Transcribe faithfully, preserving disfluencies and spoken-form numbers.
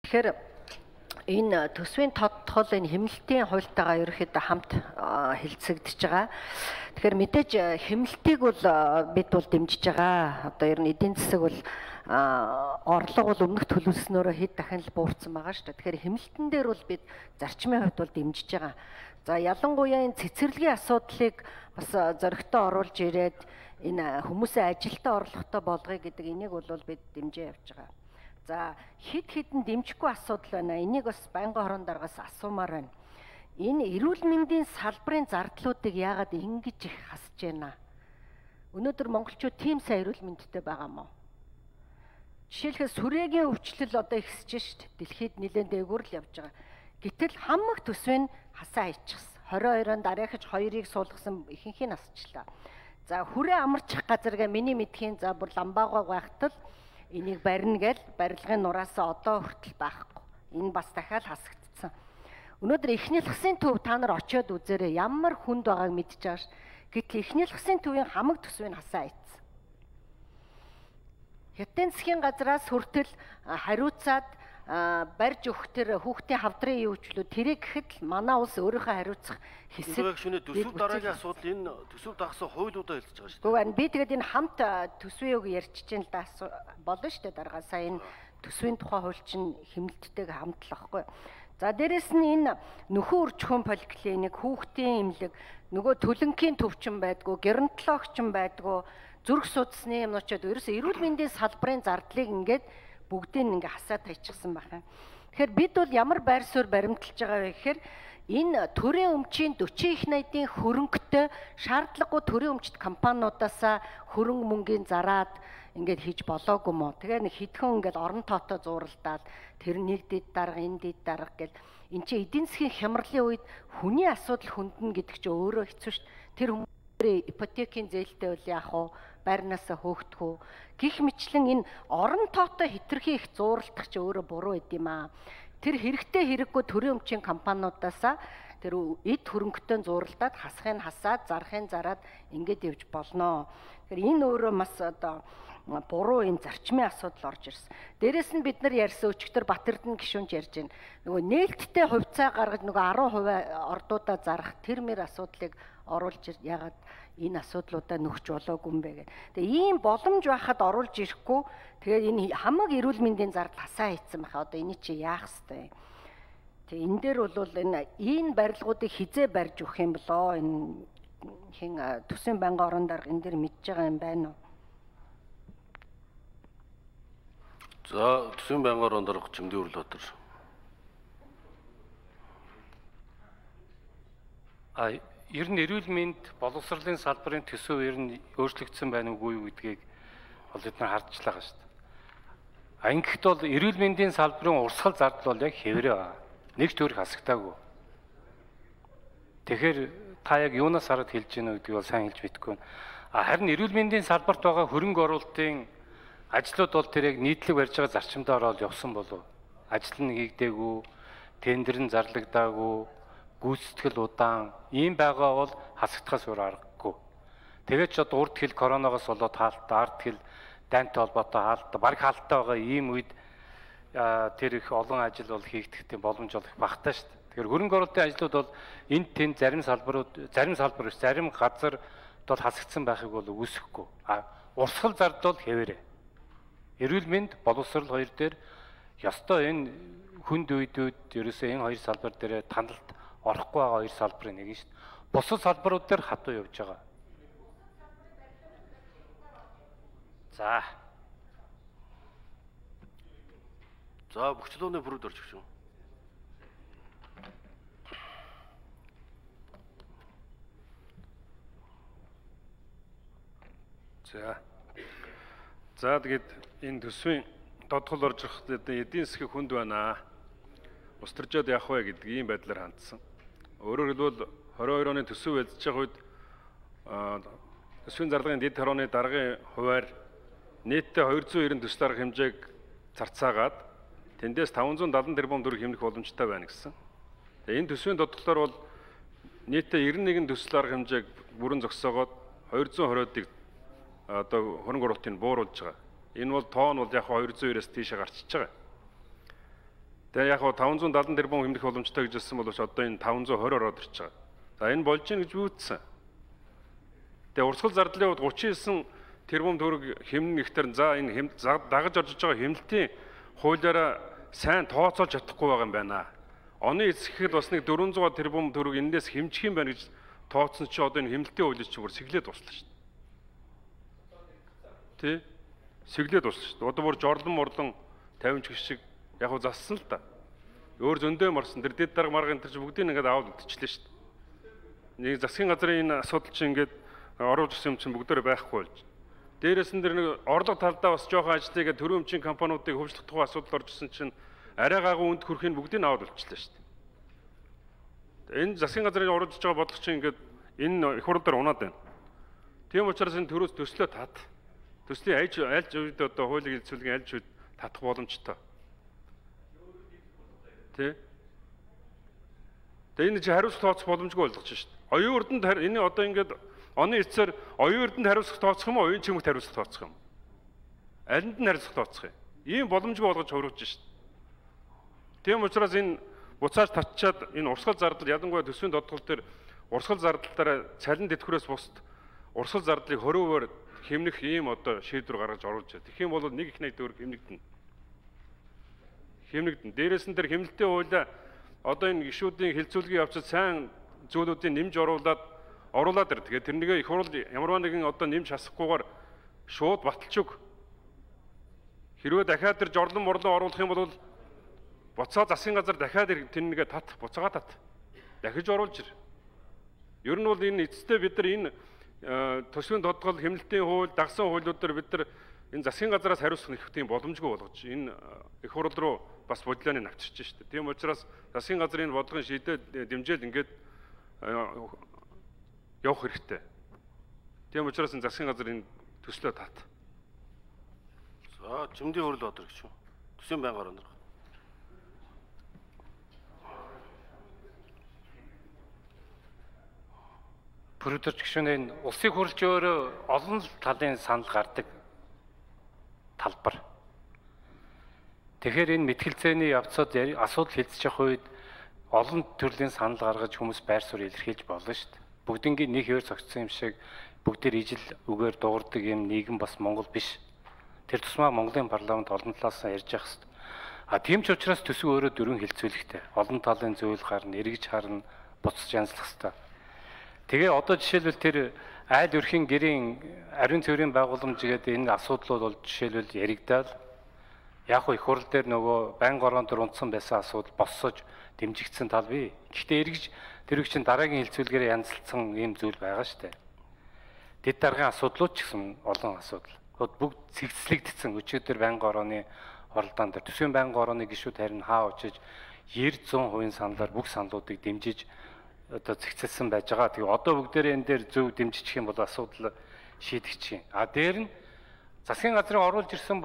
Тэгэхээр энэ төсвийн тодтол энэ хэмнэлтийн хуультайгаа ерөөхдөө хамт хэлцэгдэж байгаа. Тэгэхээр мэдээж хэмнэлтийг бол бид бол дэмжиж байгаа. Одоо ер нь эдийн засаг бол орлого бол өмнөх төлөвлөснөөрөө хэд дахин л буурсан байгаа шүү дээ. Тэгэхээр хэмнэлтэн дээр бол бид зарчмын хувьд бол дэмжиж байгаа. За ялангуяа энэ цэцэрлэгийн асуудлыг бас зөрөгтэй оруулж ирээд энэ хүмүүсээ ажилдаа орлоготой болгоё гэдэг энийг бол бид дэмжиж явж байгаа. За хэд хэдэн дэмжихгүй асуудал байна. Энийг бас байнгын хорон дараагаас асуумаар байна. Энэ эрүүл мэндийн салбарын зардлуудыг яагаад ингэж их хасж байна? Өнөөдөр монголчууд тийм сайн эрүүл мэндтэй байгаа мó? Жишээлбэл сүрээгийн өвчлөл одоо ихсэж шít. Дэлхийд нэлээд дээгүүр л явж байгаа. Гэтэл хамаг төсвийн хасаа хийчихсэн. двадцать хоёр-нд дараахаж хоёрыг суулгасан ихэнхийг насчлаа. За хүрээ амарчих газаргаа миний мэдхийн за бүр ламбаагаа гайхтал энийг барина гэл барилгын нураасаа одоо хүртэл байхгүй. Энэ бас дахиад хасагдсан. Өнөөдөр эхнэлхсийн төв та нар очиод үзээрэй. Ямар хүнд байгааг мэдж байгаа ш. Гэтэл эхнэлхсийн төвийн хамаг төсвийг хасаа ийцсэн. Хятадын засгийн газраас хүртэл хариуцаад барьж өгөх тэр хүүхдийн хавдрын юу ч лөө тэрийг гэхэд л манай улс өөрийнхөө хариуцах хэсэг. Шөнө төсөв дараагийн асуудал энэ төсөв дагсан хуулиудаа хэлж байгаа шүү дээ. Гэхдээ би тэгээд энэ хамт төсвийн үг ярьчих чинь л да болно шүү дээ дараагаа сая энэ төсвийн тухай хууль чинь хэмнэлттэйг хамт л ахгүй. За дээрэс нь энэ нөхөн үржихүүн поликлиник, хүүхдийн эмнэлэг, нөгөө төлөнгийн төвчин байдгүй, геронтологчин байдгүй, зүрх судасны юмнууд ерөөсөө эрүүл мэндийн салбарын зардлыг ингээд бүгдийг ингээ хасаад тайчихсан байна. Тэгэхээр бид бол ямар байр суурь баримталж байгаа вэ гэхээр энэ төрийн өмчийн forty их найдын хөрөнгөтэй шаардлагагүй төрийн өмчт компаниудаасаа хөрөнгө мөнгөний зараад ингээд хийж болоогүй мó. Тэгээ нэг хитгэн ингээд орон тоотоо зууралдаад тэр нэг дэд дарга энэ дэд дарга гэл эн чинь эдийн засгийн хямралын үед хүний асуудал хүнднэ гэдэг чинь өөрөө хэцүү шүү дээ. Тэр хүмүүсийн ипотекийн зээлтэй үл яах вэ? Байрнаасаа хөөгдөх үү? Гэх мэтлэн энэ орон тоотоо хитрхи их зууралдах чи өөрөө буруу байд юм аа. Тэр хэрэгтэй хэрэггүй төрийн өмчийн компаниудаасаа тэр эд хөрөнгөтэй зууралдаад хасахын хасаад зарахын зараад ингээд явж болноо. Тэгэхээр энэ өөрөө бас одоо буруу энэ зарчмын асуудал орж ирсэн. Дээрээс нь бид нар ярьсан өчигдөр Батэрдэн гишүүнж ярьж байна. Нөгөө нээлттэй хувьцаа гаргаж нөгөө ten percent ордуудаа зарах тэр мэр асуудлыг оруулж яагаад энэ асуудлуудаа нөхч болоогүй юм бэ гэх. Тэгээ ийм боломж байхад оруулж ирэхгүй тэгээд энэ хамаг эрүүл мэндийн зардал хасаа хийцэн байхаа одоо эний чи яах ёстой. Тэгээ энэ дээр бол энэ энэ барилгуудыг хизээ барьж өгөх юм болоо энэ хин төсвийн байнгын орон дарга энэ дээр мэдж байгаа юм байна уу? За төсвийн байнгын орон дарга Чимдээ Өрлөтөр. А ер нь эрүүл мэнд боловсролын салбарын төсөв ер нь өөрчлөгдсөн байна уугүй юу гэдгийг бол бид нар харж байгаа шүү дээ. А ингэхэд бол эрүүл мэндийн салбарын урсгал зардал бол яг хэврээ байна. Нэг ч төрх хасагдаагүй. Тэгэхээр та яг юунаас хараад хэлж гинэ гэдгийг бол сайн хэлж мэдэхгүй байна. А харин эрүүл мэндийн салбарт байгаа хөрөнгө оруулалтын ажлууд бол тэр яг нийтлэг барьж байгаа зарчимдаа ороод явсан болов. Ажил нь хийгдээгүй, тендер нь зарлагдаагүй, гүйцэтгэл удаан ийм байгаа бол хасагдахаас өөр аргагүй. Тэгээд ч одоо урд хил коронавигоос болоод хаалттай, ард хил дайнтай холбоотой хаалттай, баг хаалттай байгаа ийм үед тэр их олон ажил бол хийгдэх тийм боломж бол их багтаа шүү дээ. Тэгэхээр хөрөнгө оруулалтын ажлууд бол энд тэнд зарим салбарууд, зарим салбар биш, зарим газар бол хасагдсан байхыг бол үүсэхгүй. А урсгал зардал бол хэвээрээ. Эрүүл мэнд, боловсрол хоёр дээр ёстой энэ хүнд үйдүүд ерөөсөө энэ хоёр салбар дээр таналт орохгүй байгаа хоёр салбарын нэг нь шүү дээ. Бусад салбарууд дээр хатуу явж байгаа. За. За Бөхчлөөний бүрд орж өгч юм. За. За тэгээд энэ төсвийн тодгол орж ирэх эдийн засгийн хүнд байна. Устаржаад явах вэ гэдэг ийм байдлаар хандсан. Өөрөөр хэлбэл twenty-two оны төсөв эзэж байгаа үед төсвийн зарлагын дэд хорооны даргын хуваар нийтдээ two hundred ninety төсөл арга хэмжээг зарцаагаад тэндээс five hundred seventy тэрбум төгрөг хэмнэх боломжтой байна гэсэн. Тэгээ энэ төсвийн тодглоор бол нийтдээ ninety-one төсөл арга хэмжээг бүрэн зогсоогоод two hundred twenty-ыг одоо хөрөнгө оруулалтыг бууруулж байгаа. Энэ бол тоон бол яг two hundred two-ээс тийшээ гарчиж байгаа. Тэгээ яг таван зуун дадан тэрбум хэмнэх боломжтой гэж хэлсэн боловч одоо энэ таван зуун хорь ороод ирж байгаа. За энэ болж гин гэж үүссэн. Тэгээ урсгал зардлын хувьд гучин девять тэрбум төгрөг хэмнэн гихтэр за энэ дагаж орж байгаа хэмнэлтийн хуулиараа сайн тооцоолж чадахгүй байгаа юм байна. Оны эсрэхэд бас нэг дөрвөн зуун тэрбум төгрөг энэс хэмжих юм байна гэж тооцсон чи одоо энэ хэмнэлтийн хуулийг чи бүр сэглээд дуслаа шүү дээ. Тэ? Сэглээд дуслаа шүү дээ. Одоо бүр жорлон морлон тавин ч шиг яг уу зассан л да. Өөр зөндөө марсан тэр дэд дарга марга энэ чи бүгдийг ингээд аваад өдчихлээ шүү дээ. Нэг засгийн газрын энэ асуудал чи ингээд оруулж ирсэн юм чинь бүгдөө байхгүй болж. Дээрээс нь тэр нэг орлого талдаа бас жоохон ажлыг төрийн өмчийн компаниудыг хөгжлөх тухай асуудал орж ирсэн чинь арай гагуу үнд хүрэхийг бүгдийг аваад үлчлээ шүү дээ. Энэ засгийн газрын оруулж байгаа бодлого чинь ингээд энэ их хурл дээр унаад байна. Тийм учраас энэ төрөөс төслөө тат. Төслийн альж альж үед одоо хуулийн хэлцүүлгийн альж үед татах боломжтой. Тэ? Тэгээ энэ чи хариуцлага тооцох боломжгүй болгож шүү дээ. Оюун урданд энэ одоо ингээд оны эцсээр оюун урданд хариуцлага тооцох юм уу, оюун чимэгт хариуцлага тооцох юм? Алинд нь хариуцлага тооцох юм? Ийм боломжгүй болгож хөрвүүлж шүү дээ. Тийм учраас энэ буцааж татчаад энэ урсгал зардал ялангуяа төсвийн додгол дээр урсгал зардалтаараа цалин тэтгэврээс бусд урсгал зардлыг хориовоор хэмнэх ийм одоо шийдвэр гаргаж оруулж байна. Тэгэх юм бол нэг их найд төгрөг хэмнэгдэнэ. Хэмнэгдэнэ. Дээрээс нь тэр хэмнэлтийн хуулиа одоо энэ гишүүдийн хилцүүлгийн явцад сайн зүйлүүдийг нэмж оруулаад оруулаад ир. Тэгээд тэрнийгээ их хурл ямарваа нэгэн одоо нэмж хасахгүйгээр шууд баталж өг. Хэрвээ дахиад тэр жорлон морлон оруулах юм бол буцаа засгийн газар дахиад тэрнийгээ тат буцаага тат. Дахиж оруулж ир. Ер нь бол энэ эцэстээ бид нар энэ төсвийн додгол хэмнэлтийн хууль, дагсан хуулиудаар бид нар энэ засгийн газараас хариуцах нэг тийм боломжгүй болгож энэ их хурл руу бас бодлооны авчирч шүү дээ. Тийм учраас засгийн газрын бодлогын шийдэл дэмжээл ингээд явах хэрэгтэй. Тийм учраас энэ засгийн газар энэ төслөө тат. За чимдийн хурл одор гэж. Төсвийн байнга орон. Бүрдэрч гişүнээ улсыг хурлж өөрөө олон талын санал гардаг талбар. Тэгэхээр энэ мэтгэлцээний явцад асуудал хэлцэж явах үед олон төрлийн санал гаргаж хүмүүс байр суурь илэрхийлж болно шүү дээ. Бүгднгийн нэг хөр цогцсон юм шиг бүгдээр ижил үгээр дуурдаг юм нийгэм бас Монгол биш. Тэр тусмаа Монголын парламент олон талаас нь ярьж явах хэрэгтэй. А тийм ч учраас төсөв өөрөө дөрвөн хилцүүлэхтэй. Олон талын зүйл гарна, эргэж харна, буцаж янзлах хэрэгтэй. Тэгээ одоо жишээлбэл тэр айл өрхийн гэрийн ариун цэврийн байгууламж гэдэг энэ асуудлууд бол жишээлбэл яригдаад яг их хурл дээр нөгөө байнга орон дээр унтсан байсан асуудал боссож дэмжигдсэн тал бий. Гэхдээ эргэж тэрэг чинь дараагийн хилцүүлгээр янзлсан ийм зүйл байгаа шүү дээ. Дэд даргын асуудлууд ч гэсэн олон асуудал. Бүгд цэгцлэгдсэн өчигдөр байнга орооны оролдоон дээр төсвийн байнга орооны гишүүд харин хаа очиж девяносто процент саналаар бүх саналуудыг дэмжиж одоо зэгцэлсэн байж байгаа. Тэгээ одоо бүгдээрээ энэ дээр зөв дэмжиж юм бол асуудал шийдэгч юм. А дээр нь засгийн газрын оруулж ирсэн